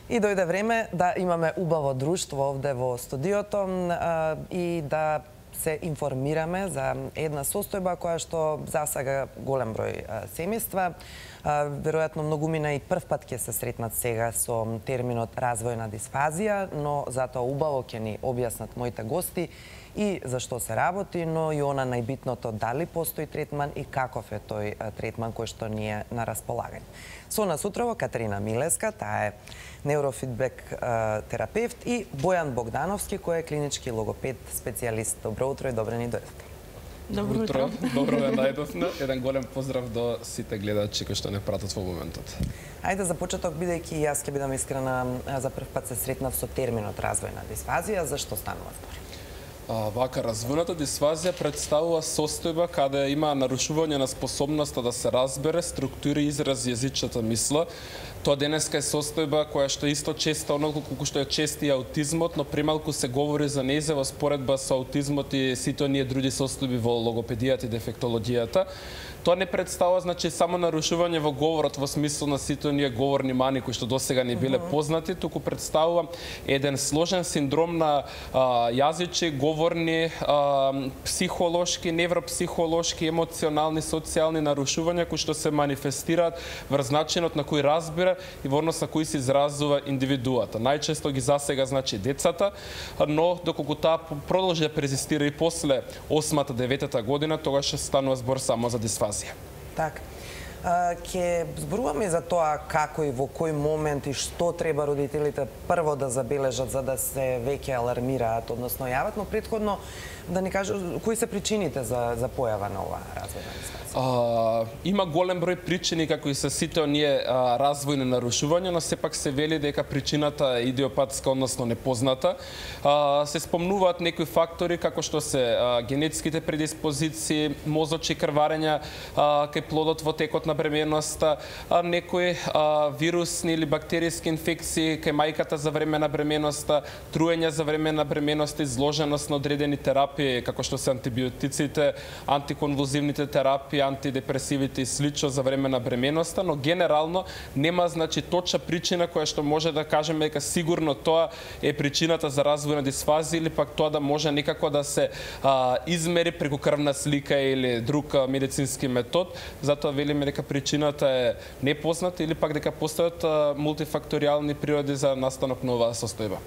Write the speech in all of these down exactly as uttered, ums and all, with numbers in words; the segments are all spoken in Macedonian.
И дојде време да имаме убаво друштво овде во студиото а, и да се информираме за една состојба која што засага голем број а, семејства. А, веројатно многумина и прв пат ќе се сретнат сега со терминот развојна дисфазија, но затоа убаво ќе ни објаснат моите гости и за што се работи, но и она најбитното дали постои третман и каков е тој третман кој што ни е на располагање. Со нас утрово Катерина Милеска, таа е неурофидбек терапевт, и Бојан Богдановски, кој е клинички логопед специјалист. Добро утро и добре ни дојдете. Добро утро. Добро ве најдовме. Еден голем поздрав до сите гледачи кои што не пратат во моментот. Ајде за почеток, бидејќи јас ќе бидам искрена, за прв пат се сретнав со терминот развојна дисфазија, зашто станува збор? А, вака, развојната дисфазија представува состојба каде има нарушување на способноста да се разбере, структури, изрази јазичната мисла. Тоа денеска е состојба која што исто честа оноliko колку што е чест и аутизмот, но премалку се говори за нејзе во споредба со аутизмот и сите оние други состојби во логопедијата и дефектологијата. Тоа не представува, значи, само нарушување во говорот во смисла на сите оние говорни мани кои што досега не биле познати, туку представува еден сложен синдром на а, јазичи, говорни, а, психолошки, невропсихолошки, емоционални, социјални нарушувања кои што се манифестираат врз начинот на кој разбира и во однос на кој се изразува индивидуата. Најчесто ги засега, значи, децата, но доколку таа продолжи да презистира и после осмата, деветата година, тогаш ќе станува збор само за дисфазија. Так. Ќе зборуваме за тоа како и во кој момент и што треба родителите прво да забележат за да се веќе алармираат, односно јават, но претходно да ни кажат кои се причините за за појава на оваа развојна дисфазија. А, има голем број причини како и се сите оние а, развојни нарушувања, но сепак се вели дека причината е идиопатска, односно непозната. А, се спомнуваат некои фактори како што се а, генетските предиспозиции, мозочи крварења а, кај плодот во текот на бременоста, а, некои а, вирусни или бактериски инфекции кај мајката за време на бременоста, труење за време на бременоста, изложеност на одредени терапии како што се антибиотиците, антиконвулзивните терапии, антидепресивите и слично за време на бременоста, но генерално нема, значи, точна причина која што може да кажеме дека сигурно тоа е причината за развојна дисфазија или пак тоа да може некако да се а, измери преку крвна слика или друг а, медицински метод. Затоа велиме дека причината е непозната или пак дека постојат а, мултифакторијални природи за настанок на оваа состојба.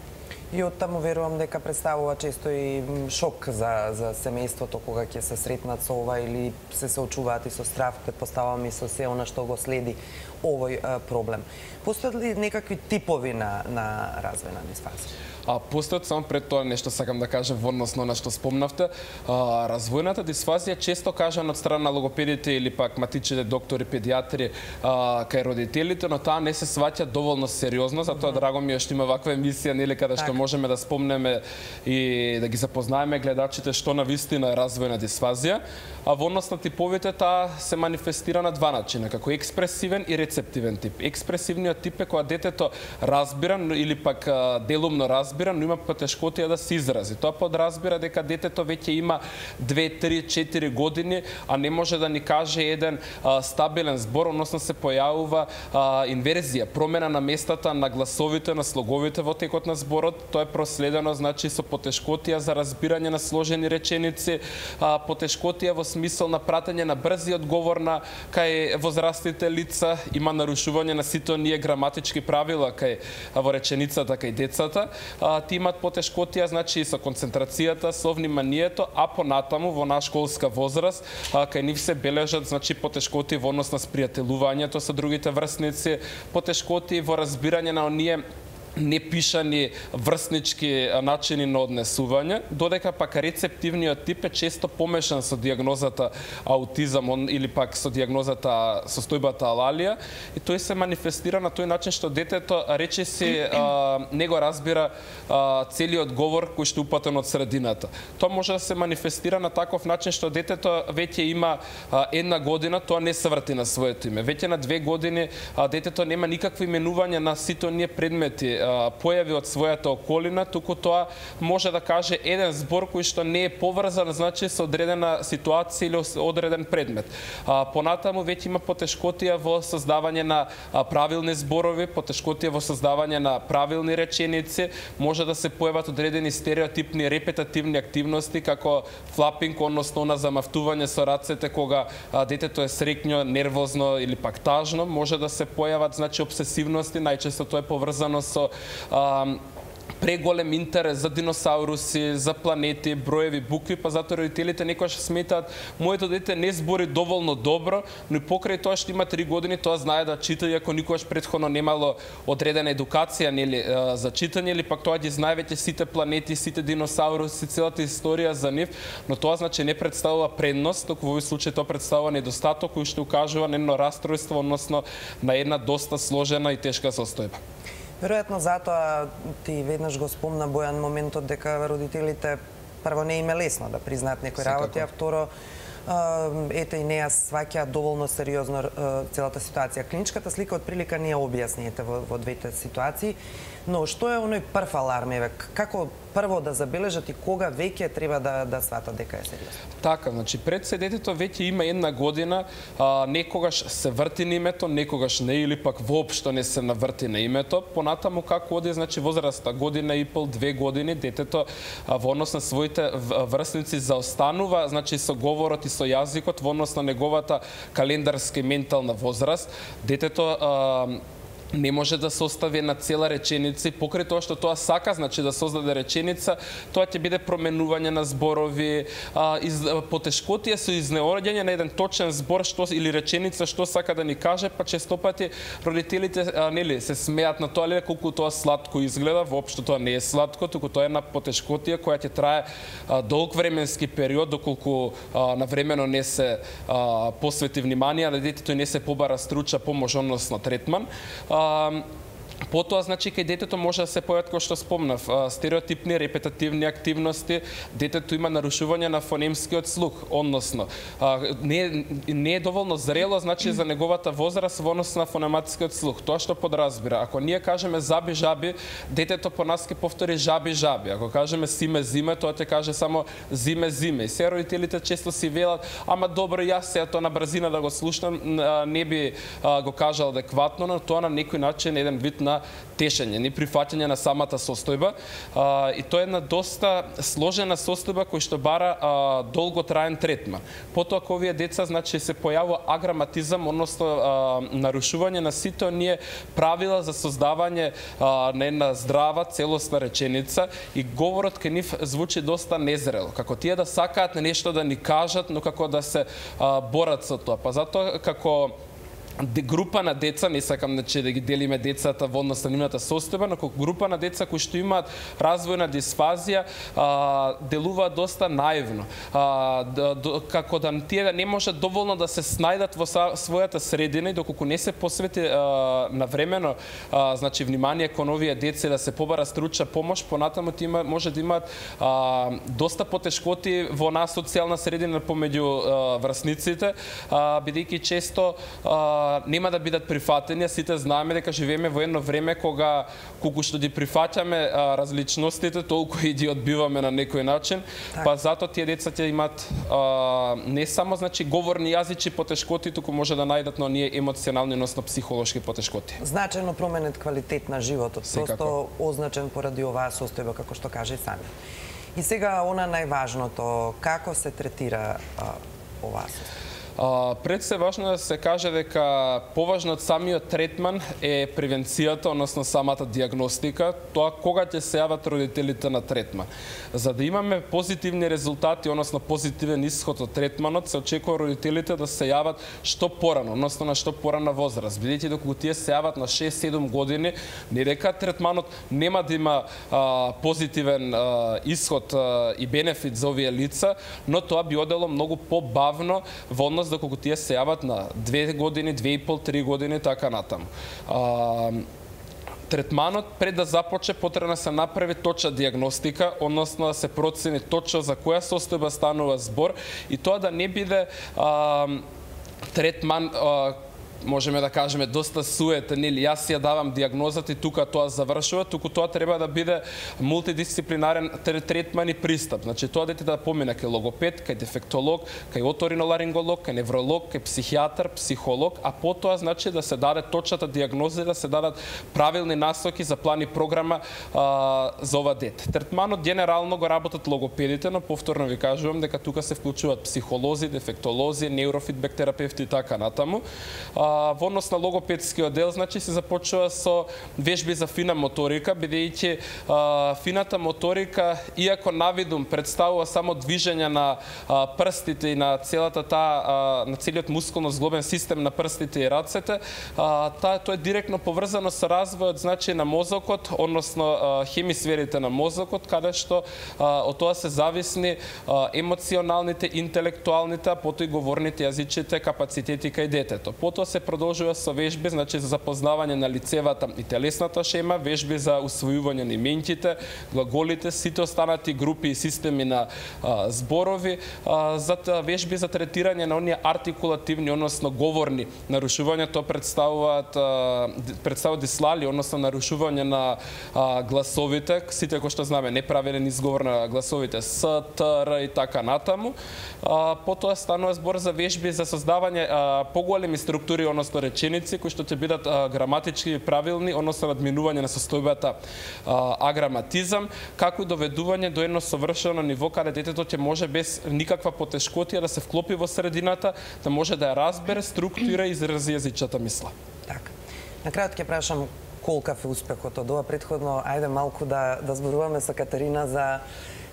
И оттаму верувам дека представува често и шок за за семејството кога ќе се сретнат со ова или се соочуваат и со страв, претпоставувам и со се она што го следи овој а, проблем. Постојат ли некакви типови на на развојна дисфазија? А постојат, само пред тоа нешто сакам да кажам во однос на што спомнавте. А, развојната дисфазија често кажан од страна на логопедите или пак матичните доктори, педиатри а, кај родителите, но таа не се сваќа доволно сериозно, затоа драго ми е што има ваква емисија, нели, каде што можеме да спомнеме и да ги запознаеме гледачите што навистина е развојна дисфазија. А во однос на типовите таа се манифестира на два начина, како експресивен и рецептивен тип. Експресивниот тип е кога детето разбира или пак а, делумно разбира, но има потешкотија да се изрази. Тоа подразбира дека детето веќе има две, три, четири години, а не може да ни каже еден а, стабилен збор, односно се појавува а, инверзија, промена на местата на гласовите, на слоговите во текот на зборот. Тоа е проследено, значи, со потешкотија за разбирање на сложени реченици, а, потешкотија во смисол на пратење на брзи одговор на кај возрастните лица, има нарушување на сите оние граматички правила кај во реченицата кај децата. А, ти имат потешкотија, значи, со концентрацијата, со вниманието, а понатаму во на школска возраст, а, кај нив се бележат, значи, потешкотии во однос на спријателувањето со другите врсници, потешкотии во разбирање на оние непишани врснички начини на однесување, додека пак рецептивниот тип е често помешан со дијагнозата аутизам или пак со дијагнозата состојбата алалија, и тој се манифестира на тој начин што детето речиси а, не го разбира а, целиот говор кој што упатен од средината. Тоа може да се манифестира на таков начин што детето веќе има а, една година, тоа не се врати на своето име. Веќе на две години а, детето нема никакви именувања на сите оние предмети појави од својата околина, туку тоа може да каже еден збор кој што не е поврзан, значи со одредена ситуација или одреден предмет. Понатаму веќе има потешкотија во создавање на правилни зборови, потешкотија во создавање на правилни реченици, може да се појават одредени стереотипни репетативни активности како флапинг, односно на замавтување со рацете кога детето е среќно, нервозно или пак тажно, може да се појават значи обсесивности, најчесто тоа е поврзано со а, преголем интерес за диносауруси, за планети, броеви, букви, па затоа родителите некогаш сметаат моето дете не збори доволно добро, но и покрај тоа што има три години, тоа знае да чита, иако никогаш претходно немало одредена едукација нели за читање, или пак тоа ги знае веќе сите планети, сите диносауруси, целата историја за нив, но тоа значи не представува предност, туку во овој случај тоа представува недостаток кој што укажува на едно растројство, односно на една доста сложена и тешка состојба. Веројатно затоа ти веднаш го спомна Бојан моментот дека родителите прво не им е лесно да признаат некои работи, а второ ете и неа сваќаат доволно сериозно целата ситуација. Клиничката слика од прилика не ја објасниете во, во двете ситуации, но што е оној прв аларм, еве, како прво да забележат и кога веќе треба да да сватат дека е сериозно? Така, значи пред се детето веќе има една година, а, некогаш се врти на името, некогаш не, или пак воопшто не се наврти на името. Понатаму како оди, значи возраста година и пол, две години, детето а, во однос на своите врсници заостанува, значи со говорот и со јазикот во однос на неговата календарска и ментална возраст. Детето а, не може да состави на цела реченица и покрај тоа што тоа сака, значи да создаде реченица, тоа ќе биде променување на зборови, а, из, потешкотија со изнеоѓање на еден точен збор што или реченица што сака да ни каже, па често пати родителите а, нели се смеат на тоа, или колку тоа сладко изгледа, воопшто тоа не е сладко, туку тоа е една потешкотија која ќе трае а, долг временски период доколку а, навремено не се а, посвети внимание на детето и не се побара струча помош, односно третман. Um, Потоа, значи, кај детето може да се појават, кој што спомнав, стереотипни, репетативни активности, детето има нарушување на фонемскиот слух, односно, не, не е доволно зрело, значи, за неговата возраст во однос на фонематскиот слух. Тоа што подразбира. Ако ние кажеме заби, жаби, детето по нас ќе повтори жаби, жаби. Ако кажеме симе, зиме, тоа ќе каже само зиме, зиме. И се родителите често си велат, ама добро, јас се тоа на брзина да го слушнам, не би го кажал адекватно, но тоа на некој начин еден вид на тешење, не прифаќање на самата состојба. А, и тоа е една доста сложена состојба која што бара а, долготраен третман. Потоа кога овие деца значи се појавува аграматизам, односно а, нарушување на сите оние правила за создавање а, на една здрава целосна реченица и говорот кај нив звучи доста незрело. Како тие да сакаат нешто да ни кажат, но како да се а, борат со тоа. Па затоа како група на деца, не сакам значи да ги делиме децата во однос на нивната состојба, но како група на деца кои што имаат развојна дисфазија, а, делуваат доста наивно. А, да, до, како да тие да не можат доволно да се снајдат во са, својата средина и доколку не се посвети а, навремено а, значи внимание кон овие деца да се побара стручна помош, понатаму тие може да имаат а, доста потешкоти во нас социјална средина помеѓу а, врсниците, а, бидејќи често а, нема да бидат прифатени, а сите знаеме дека живееме во едно време кога колку што ги прифаќаме а, различностите, толку и ги одбиваме на некој начин, так. Па затоа тие деца ќе имаат а, не само значи говорни јазичи потешкоти, туку може да најдат на оние емоционални, односно психолошки потешкоти. Значајно променет квалитет на животот, просто означен поради оваа состојба како што каже сами. И сега она најважното, како се третира а, оваа состојба? Uh, пред се важно да се каже дека поважно од самиот третман е превенцијата, односно самата диагностика, тоа кога ќе се јават родителите на третман. За да имаме позитивни резултати, односно позитивен исход од третманот, се очекува родителите да се јават што порано, односно на што порана возраст. Бидејќи доколку тие се јават на шест-седум години, не дека третманот нема да има а, позитивен а, исход а, и бенефит за овие лица, но тоа би одело многу побавно во однос доколку тие се јават на две години, две и пол, три години, така натаму. А, третманот пред да започне потребно да се направи точна диагностика, односно да се процени точно за која состојба станува збор и тоа да не биде а, третман а, можеме да кажеме доста суета, нели јас ја давам дијагнозата и тука тоа завршува, туку тоа треба да биде мултидисциплинарен третман и пристап. Значи тоа дете да помине кај логопед, кај дефектолог, кај оториноларинголог, кај невролог, кај психијатар, психолог, а потоа значи да се даде точната дијагноза и да се дадат правилни насоки за план и програма а, за ова дете. Третманот генерално го работат логопедите, но повторно ви кажувам дека тука се вклучуваат психолози, дефектолози, неурофидбек терапевти и така натаму. А, во однос на логопедскиот дел, значи се започува со вежби за фина моторика, бидејќи фината моторика, иако навидум представува само движење на а, прстите и на целата таа на целиот мускулно-зглобен систем на прстите и рацете, а, та, тоа е директно поврзано со развојот значи на мозокот, односно а, хемисферите на мозокот, каде што а, од тоа се зависни а, емоционалните, интелектуалните, а потоа и говорните јазичите капацитети кај детето. Потоа се продолжува со вежби, значи за запознавање на лицевата и телесната шема, вежби за усвојување на именките, глаголите, сите останати групи и системи на а, зборови, а, за вежби за третирање на оние артикулативни, односно говорни нарушувања, тоа представуваат представуваат дислали, односно нарушување на а, гласовите, сите кои што знаме неправилен изговор на гласовите С, Т, Р и така натаму. А, потоа станува збор за вежби за создавање а, поголеми структури, односно реченици кои што ќе бидат а, граматички правилни, односно надминување на состојбата а, аграматизам, како и доведување до едно совршено ниво каде детето ќе може без никаква потешкотија да се вклопи во средината, да може да ја разбере, структура и изрази јазичната мисла. Така. На крајот ќе прашам колкав е успехот од ова претходно, ајде малку да да зборуваме со Катерина за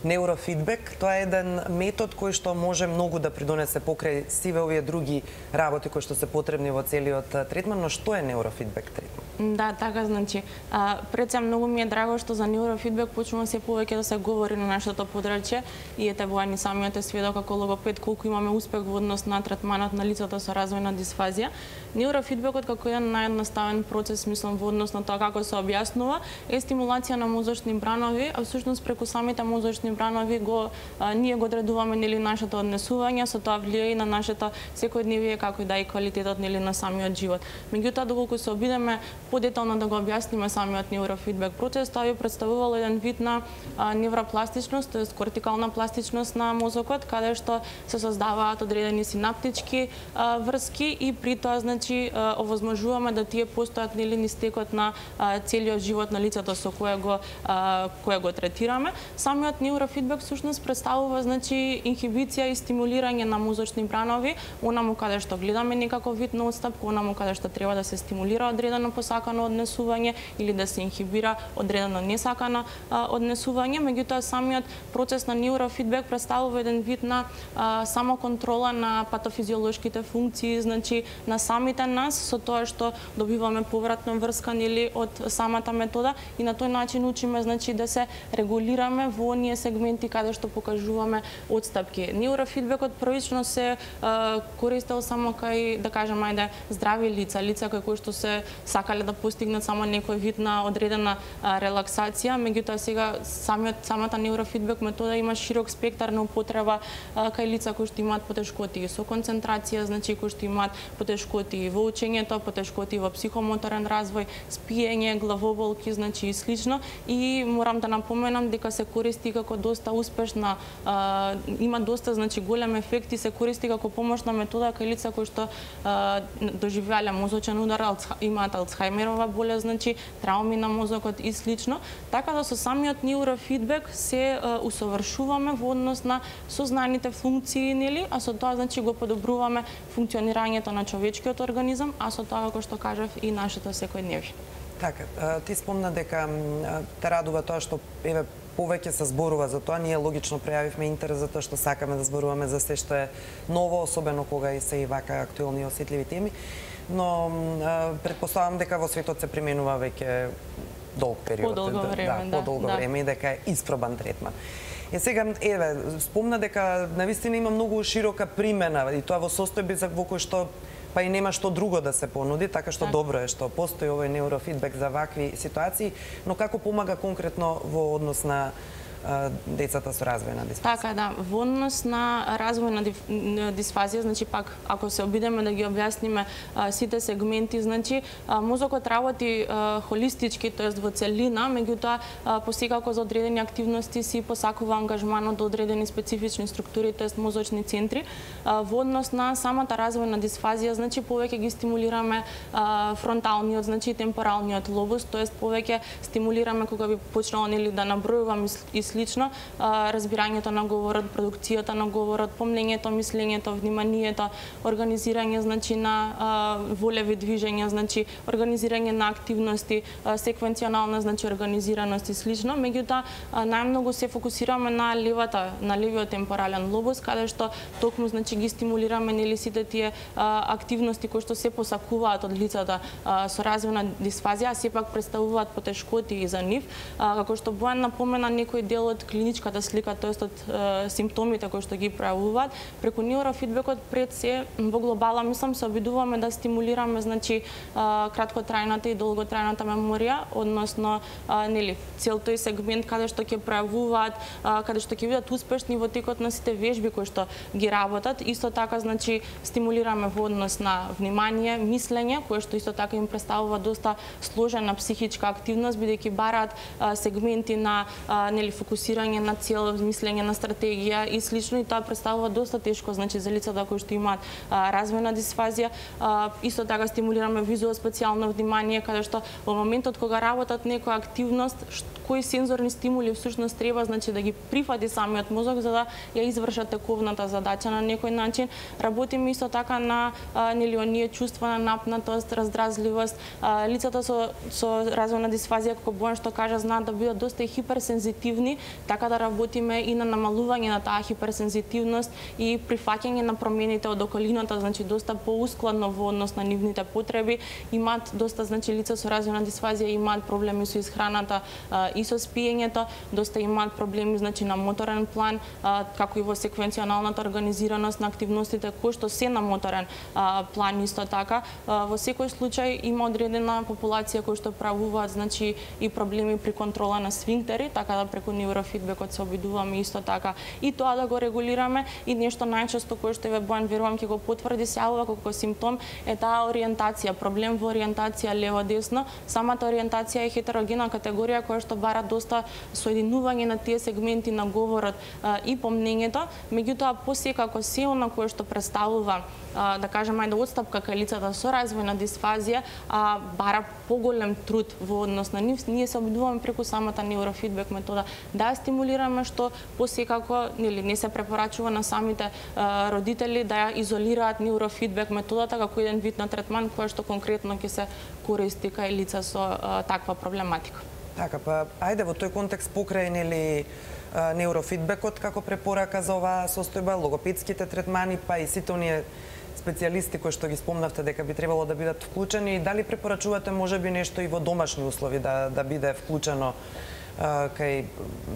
неурофидбек. Тоа е еден метод кој што може многу да придонесе покрај сиве овие други работи кои што се потребни во целиот третман, но што е неурофидбек третман? Да, така, значи, а, пред се многу ми е драго што за неурофидбек почнува се повеќе да се говори на нашето подрачје и ете воани самиот е сведок како логопед колку имаме успех во однос на третманот на лицата со развојна дисфазија. Неурофидбекот како еден наједноставен процес, мислам, во однос на тоа како се објаснува, е стимулација на мозочни бранови, а всушност преку самите мозочни бранови го а, ние го одредуваме нели нашето однесување, со тоа влијае и на нашето секојдневие како и да и квалитетот нели на самиот живот. Меѓутоа доколку се обидеме подетално да го објасниме самиот неурофидбек процес, тоа би представувал еден вид на а, невропластичност, тоест кортикална пластичност на мозокот, каде што се создаваат одредени синаптички а, врски и при тоа значи а, овозможуваме да тие постојат нели низ текот на а, целиот живот на лицето со кое го а, кое го третираме. Самиот неурофидбек всушност представува значи инхибиција и стимулирање на мозочни бранови, онаму каде што гледаме некаков вид на отстапка, онаму каде што треба да се стимулира одредено посакано однесување или да се инхибира одредено несакано а, однесување. Меѓутоа самиот процес на неурофидбек представува еден вид на а, самоконтрола на патофизиолошките функции, значи на самите нас, со тоа што добиваме повратна врска нели од самата метода и на тој начин учиме значи да се регулираме во оние сегменти каде што покажуваме отстапки. Неурофидбекот првично се а, користел само кај, да кажем, ајде, здрави лица, лица кои што се сакале да постигнат само некој вид на одредена а, релаксација, меѓутоа сега самиот самата неурофидбек метода има широк спектар на употреба а, кај лица кои што имаат потешкоти со концентрација, значи кои што имаат потешкоти во учењето, потешкоти во психомоторен развој, спиење, главоболки, значи и слично. И морам да напоменам дека се користи како доста успешна, а, има доста значи голем ефект и се користи како помошна метода кај лица кои што а, доживеале мозочен удар, имаат Алцхајмерова болест, значи трауми на мозокот и слично. Така да со самиот неурофидбек се а, усовршуваме во однос на сознаните функции, нели, а со тоа значи го подобруваме функционирањето на човечкиот организам, а со тоа како што кажав и нашето секојдневие. Така, ти спомна дека те радува тоа што еве повеќе се зборува за тоа. Ние логично пројавивме интерес за тоа што сакаме да зборуваме за се што е ново, особено кога и се и вака актуелни и осетливи теми. Но предпоставам дека во светот се применува веќе долг период, подолго време, да, подолго да, време и дека е испробан третман. Е сега, еве, спомна дека навистина има многу широка примена и тоа во состојби за во кој што па и нема што друго да се понуди, така што так. Добро е што постои овој неурофидбек за вакви ситуации, но како помага конкретно во однос на децата со развојна дисфазија. Така, да. Во однос на развојна дисфазија, значи пак ако се обидеме да ги објасниме а, сите сегменти, значи а, мозокот работи а, холистички, тоест во целина, меѓутоа посекако за одредени активности си посакува ангажманот до одредени специфични структури, тоест мозочни центри. А, во однос на самата развојна дисфазија, значи повеќе ги стимулираме а, фронталниот, значи темпоралниот лобус, тоест повеќе стимулираме кога би почнало нели да набројувам и слично, а, разбирањето на говорот, продукцијата на говорот, помнењето, мислењето, вниманието, организирање значи на а, волеви движења, значи организирање на активности, а, секвенционална значи организираност и слично. Меѓутоа најмногу се фокусираме на левата, на левиот темпорален лобус, каде што токму значи ги стимулираме нели сите тие а, активности кои што се посакуваат од лицата а, со развојна дисфазија, а сепак представуваат потешкоти и за нив, а, како што Бојан напомена некој дел од клиничката слика, тоест од а, симптомите кои што ги пројавуваат, преку неурофидбекот пред се во глобала мислам се обидуваме да стимулираме значи а, краткотрајната и долготрајната меморија, односно а, нели цел тој сегмент каде што ќе пројавуваат, а, каде што ќе бидат успешни во текот на сите вежби кои што ги работат. Исто така значи стимулираме во однос на внимание, мислење, кое што исто така им представува доста сложена психичка активност, бидејќи бараат а, сегменти на а, нели фокусирање на цел, мислење на стратегија и слично, и тоа представува доста тешко значи за лицата кои што имаат а, развојна дисфазија. А, исто така стимулираме визуо-специјално внимание, каде што во моментот кога работат некоја активност, кои сензорни стимули всушност треба значи да ги прифати самиот мозок за да ја изврши тековната задача на некој начин. Работиме исто така на а, нели оние чувства на напнатост, раздразливост. А, лицата со со развојна дисфазија, како Бојан што кажа, знаат да бидат доста и хиперсензитивни, така да работиме и на намалување на таа хиперсензитивност и прифаќање на промените од околината, значи доста поускладно во однос на нивните потреби. Имаат доста значи лица со развојна дисфазија имаат проблеми со исхраната а, и со спиењето, доста имаат проблеми значи на моторен план, а, како и во секвенционалната организираност на активностите кои што се на моторен а, план исто така. А, во секој случај има одредена популација кои што правуваат значи и проблеми при контрола на сфинктери, така да преку неурофидбекот се обидуваме исто така и тоа да го регулираме. И нешто најчесто кое што ве Бојан верувам ќе го потврди се јавува како симптом е таа ориентација, проблем во ориентација лево-десно. Самата ориентација е хетерогена категорија која што бара доста соединување на тие сегменти на говорот а, и помнењето, меѓутоа посекако се она кое што представува а, да кажем ајде одстапка кај лицата со развојна дисфазија, а бара поголем труд во однос на нив, ние се обидуваме преку самата неурофидбек метода да стимулираме, што посекако нели не се препорачува на самите а, родители да ја изолираат неурофидбек методата како еден вид на третман кој што конкретно ќе се користи кај лица со а, таква проблематика. Така, па ајде во тој контекст покрај нели неурофидбекот како препорака за оваа состојба, логопедските третмани, па и сите оние специјалисти кои што ги спомнавте дека би требало да бидат вклучени, дали препорачувате можеби нешто и во домашни услови да да биде вклучено а, кај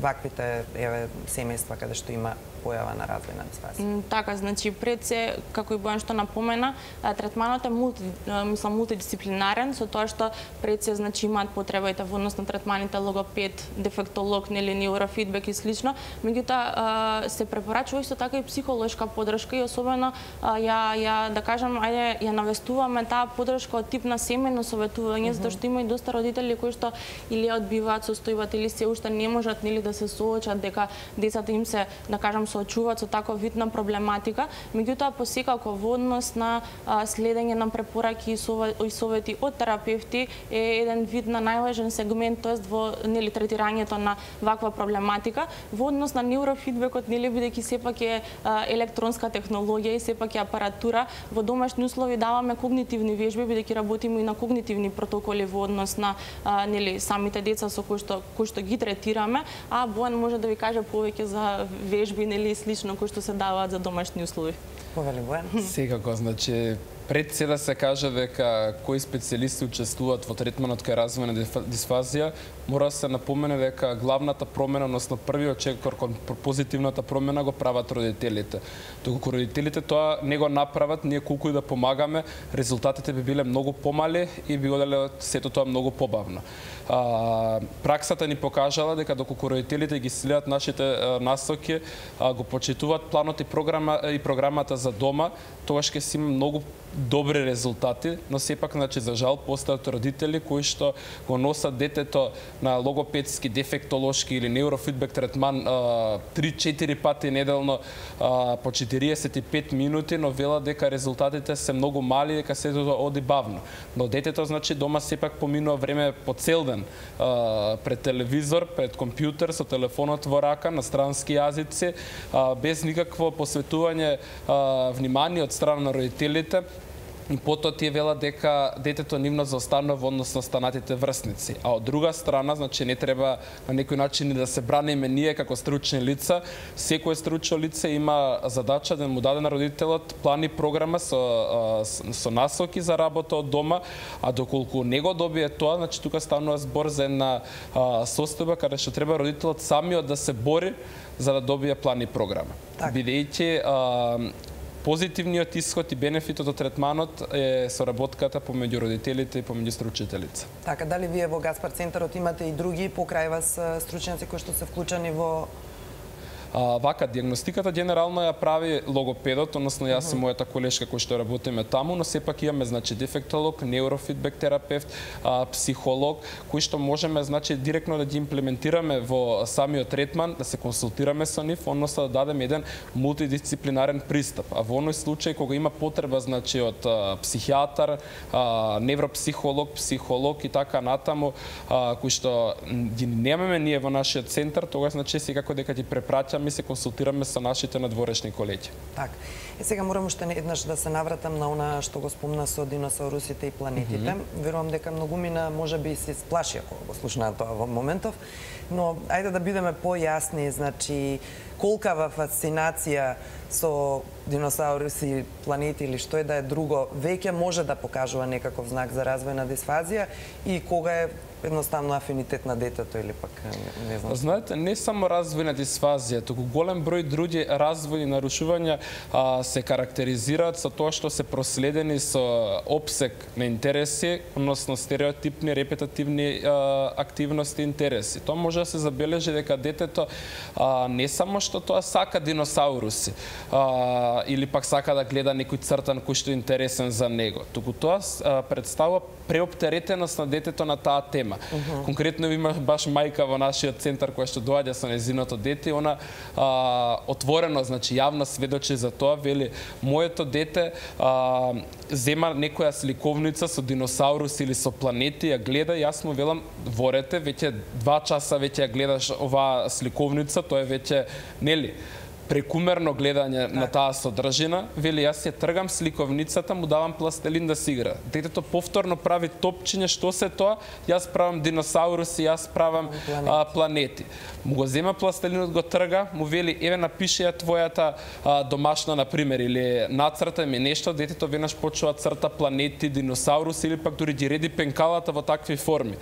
ваквите еве семејства каде што има појава на развојна дисфазија? Така, значи пред се, како и Бојан што напомена, третманот е мулти, мислам, мултидисциплинарен, со тоа што пред се значи имаат потребите во однос на третманите логопед, дефектолог, нели неурофидбек и слично. Меѓутоа се препорачува исто така и психолошка поддршка и особено ја ја да кажам, ајде ја навестуваме таа поддршка од тип на семејно советување, mm -hmm. затоа што има и доста родители кои што или одбиваат состојбата или се уште не можат нели да се соочат дека децата им се да кажам соочуваат со таков вид на проблематика, меѓутоа посекако во однос на а, следење на препораки и совети од терапевти е еден вид на најважен сегмент, тоест во нели третирањето на ваква проблематика. Во однос на неурофидбекот, нели бидејќи сепак е а, електронска технологија и сепак е апаратура, во домашни услови даваме когнитивни вежби, бидејќи работиме и на когнитивни протоколи во однос на а, нели самите деца со кои што кои што ги третираме, а Бојан може да ви каже повеќе за вежби нели и слично кои што се даваат за домашни услови. Повели Бојан. Секако, значи, пред се да се каже дека кои специјалисти учествуваат во третманот кај развојна дисфазија, мора да се напомене дека главната промена, односно првиот чекор кон позитивната промена го прават родителите. Доколку родителите тоа не го направат, ние колку и да помагаме, резултатите би биле многу помали и би оделе сето тоа многу побавно. А, праксата ни покажала дека доколку родителите ги следат нашите а, насоки, а, го почитуваат планот и програма и програмата за дома, тогаш ќе си има многу добри резултати, но сепак, значи, за жал, постојат родители кои што го носат детето на логопедски, дефектолошки или неурофидбек третман три-четири пати неделно а, по четириесет и пет минути, но велат дека резултатите се многу мали, дека сето оди бавно. Но детето, значи, дома сепак поминува време по цел ден а, пред телевизор, пред компјутер, со телефонот во рака, на странски јазици, а, без никакво посветување а, внимание од страна на родителите. И потоа тие велат дека детето нивно заостанува во однос на останатите врсници. А од друга страна, значи, не треба на некој начин да се браниме ние како стручни лица. Секое стручно лице има задача да му даде на родителот план и програма со, со насоки за работа од дома, а доколку не го добие тоа, значи тука станува збор за една состојба каде што треба родителот самиот да се бори за да добие план и програма. Бидејќи позитивниот исход и бенефитот од третманот е соработката помеѓу родителите и помеѓу стручните лица. Така, дали вие во Гаспар центарот имате и други покрај вас стручњаци кои што се вклучени во А, вака, диагностиката генерално ја прави логопедот, односно јас и мојата колешка кои што работиме таму, но сепак имаме, значи, дефектолог, неурофидбек терапевт, а, психолог, кои што можеме, значи, директно да ги имплементираме во самиот третман, да се консултираме со нив, односно да дадеме еден мултидисциплинарен пристап. А во оној случај кога има потреба, значи, од а, психијатар, а, невропсихолог, психолог и така натаму, а, кои што ги немаме ние во нашиот центар, тогаш, значи, секако дека ги препраќаме ми се консултираме со нашите надворешни колеги. Так. И сега морам уште еднаш да се навратам на она што го спомна со диносаурусите и планетите. Mm -hmm. Верувам дека многумина можеби се сплаши ако го слушнаа тоа во моментов, но ајде да бидеме појасни, значи колкава фасцинација со диносауруси, планети или што е да е друго, веќе може да покажува некаков знак за развојна дисфазија и кога е едноставно афинитет на детето или пак не знам. Знаете, не само развојна дисфазија, туку голем број други развојни нарушувања а, се карактеризираат со тоа што се проследени со опсек на интереси, односно стереотипни, репетативни а, активности и интереси. Тоа може да се забележи дека детето а, не само што тоа сака диносауруси а, или пак сака да гледа некој цртан кој што е интересен за него, туку тоа а, представува преоптеретеност на детето на таа тема. Uh -huh. Конкретно има баш мајка во нашиот центар која што доаѓа со незиното дете, она а, отворено, значи јавно сведочи за тоа, вели моето дете а, зема некоја сликовница со диносаурус или со планети, ја гледа, јас му велам ворете, веќе два часа веќе ја гледаш оваа сликовница, тоа е веќе, нели, прекумерно гледање на таа содржина, вели јас ја тргам сликовницата, му давам пластелин да си игра. Детето повторно прави топчиње, што се тоа? Јас правам диносауруси, јас правам планети. А, планети. Му го зема пластелинот, го трга, му вели еве напиши ја твојата а, домашна на пример или нацрта ми нешто, детето веднаш почува црта планети, диносауруси или пак дури ги реди пенкалата во такви форми.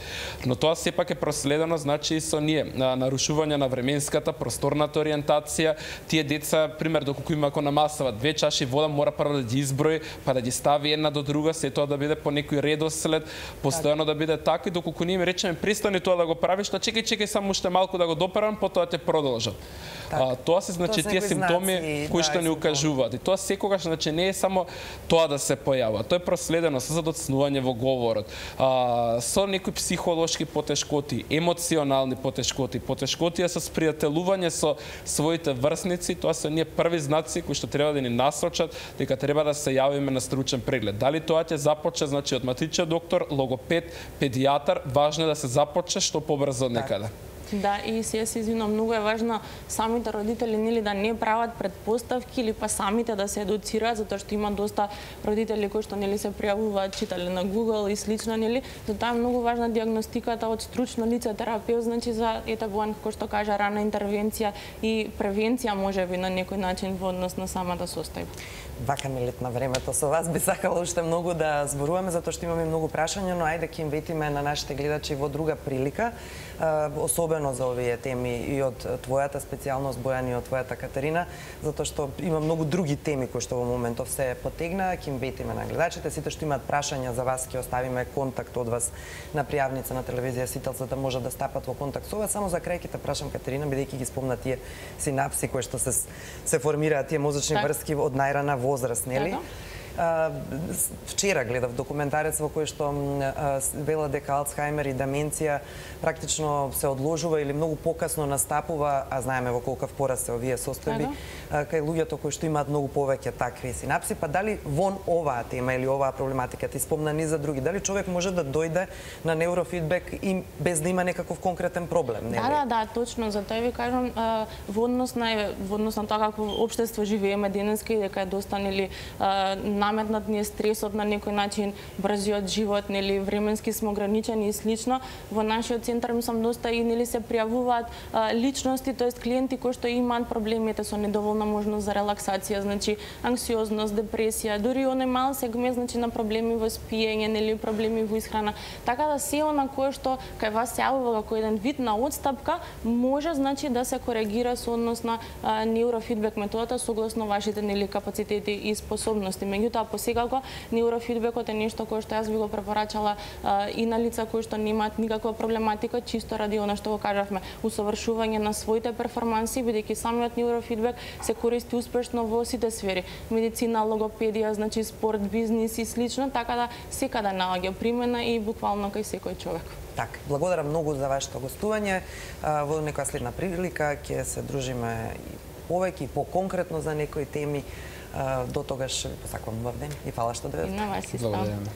Но тоа сепак е проследено, значи и со ние, на нарушување на временската, просторната ориентација. Тие деца, пример, доколку има ако намасават две чаши вода, мора прво да ги изброи, па да ги стави една до друга, се тоа да биде по некој редослед, постојано да биде така, и доколку ние им речеме престани тоа да го правиш, та чекај, чекај само уште малку да го доперам, потоа ќе продолжат. А, тоа се, значи, тие симптоми кои што ни укажуваат. И тоа секогаш, значи, не е само тоа да се појавува. Тоа е проследено со задоцнување во говорот, а, со некои психолошки потешкоти, емоционални потешкоти, потешкотија со спријателување со своите врсници. Тоа се ние први знаци кои што треба да ни насочат дека треба да се јавиме на стручен преглед. Дали тоа ќе започне, значи, од матичен доктор, логопед, педијатар, важно е да се започне што побрзо некаде. Да, и се се извинувам, многу е важно самите родители, нели, да не прават предпоставки или па самите да се едуцираат, затоа што има доста родители кои што, нели, се пријавуваат, читале на Google и слично, нели, затоа е многу важна диагностиката од стручно лице, терапевт, значи за ете Бојан, како што кажа, рана интервенција и превенција можеби на некој начин во однос на самата состојба. Вака ми летна времето со вас. Би сакала уште многу да зборуваме, затоа што имаме многу прашања, но ајде ќе им ветиме на нашите гледачи во друга прилика, особено за овие теми и од твојата специјалност, Бојан, и од твојата Катерина, затоа што има многу други теми кои што во моментов се потегна. Ќе им ветиме на гледачите. Сите што имаат прашања за вас, ќе оставиме контакт од вас на пријавница на телевизија Сител, за да можат да стапат во контакт со вас. Само за крај ќе те прашам, Катерина, бидејќи ги спомна тие синапси кои што се се формираат, тие мозочни так. врски од најрана возраст, нели? Uh, вчера гледав документарец во кој што uh, вела дека Алцхаймер и деменција практично се одложува или многу покасно настапува, а знаеме во колкав пораст се овие состојби, uh, кај луѓето кои што имаат многу повеќе такви синапси. Па дали вон оваа тема или оваа проблематика, ти спомна ни за други, дали човек може да дојде на неурофидбек и без да има некаков конкретен проблем? Да, да, да, точно. Затоа ви кажам, uh, во однос на во однос на тоа како општество живееме денеска и дека е доста нели uh, наметнат ни е стресот на некој начин, брзиот живот, нели временски сме ограничени и слично. Во нашиот центар мислам доста и нели се пријавуваат а, личности, тоест клиенти кои што имаат проблемите со недоволна можност за релаксација, значи анксиозност, депресија, дури оној мал сегмент значи на проблеми во спиење, нели проблеми во исхрана. Така да се она кое што кај вас се јавува како еден вид на отстапка, може значи да се коригира со однос на а, неурофидбек методата согласно вашите нели капацитети и способности. Меѓутоа посекако неурофидбекот е нешто кое што јас би го препорачала а, и на лица кои што немаат никаква проблематика, чисто ради она што го кажавме, усовршување на своите перформанси, бидејќи самиот неурофидбек се користи успешно во сите сфери, медицина, логопедија, значи спорт, бизнис и слично, така да секаде наоѓа примена и буквално кај секој човек. Так, благодарам многу за вашето гостување. Во некоја следна прилика ќе се дружиме и повеќе и поконкретно за некои теми. До тогаш ви посакувам убав ден и фала што дојдовте. И на вас исто. Благодарам.